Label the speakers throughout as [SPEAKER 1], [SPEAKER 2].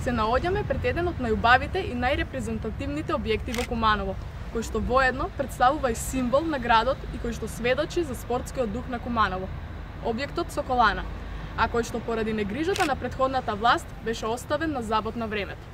[SPEAKER 1] се наоѓаме пред еден од најубавите и најрепрезентативните објекти во Куманово, кој што воедно представува и символ на градот и кој што сведочи за спортскиот дух на Куманово. Објектот Соколана, а кој што поради негрижата на претходната власт беше оставен на забот на времето.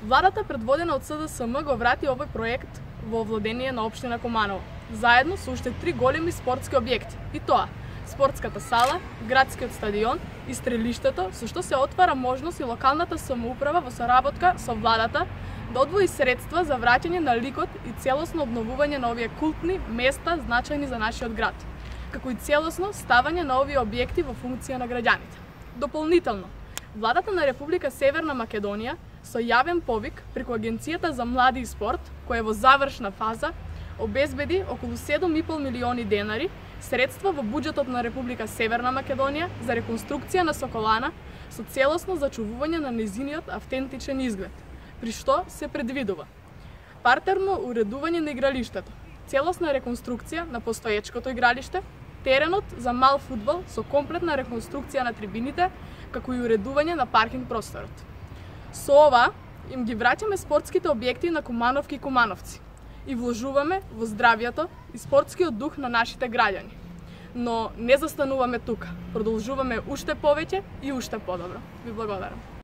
[SPEAKER 1] Владата предводена од СДСМ го врати овој проект во владение на општина Куманово, заедно со уште 3 големи спортски објекти, и тоа спортската сала, градскиот стадион и стрелиштето, со што се отвара можност и локалната самоуправа во соработка со владата да одвои средства за враќање на ликот и целосно обновување на овие култни места значајни за нашиот град, како и целосно ставање на овие објекти во функција на граѓаните. Дополнително, владата на Република Северна Македонија со јавен повик преку Агенцијата за млади и спорт, која е во завршна фаза, обезбеди околу 7,5 милиони денари средства во буџетот на Република Северна Македонија за реконструкција на Соколана со целосно зачувување на нејзиниот автентичен изглед, при што се предвидува партерно уредување на игралиштето, целосна реконструкција на постоечкото игралиште, теренот за мал фудбал со комплетна реконструкција на трибините, како и уредување на паркинг просторот. Со ова им ги враќаме спортските објекти на Кумановки и кумановци и вложуваме во здравјето и спортскиот дух на нашите граѓани. Но не застануваме тука, продолжуваме уште повеќе и уште подобро. Ви благодарам.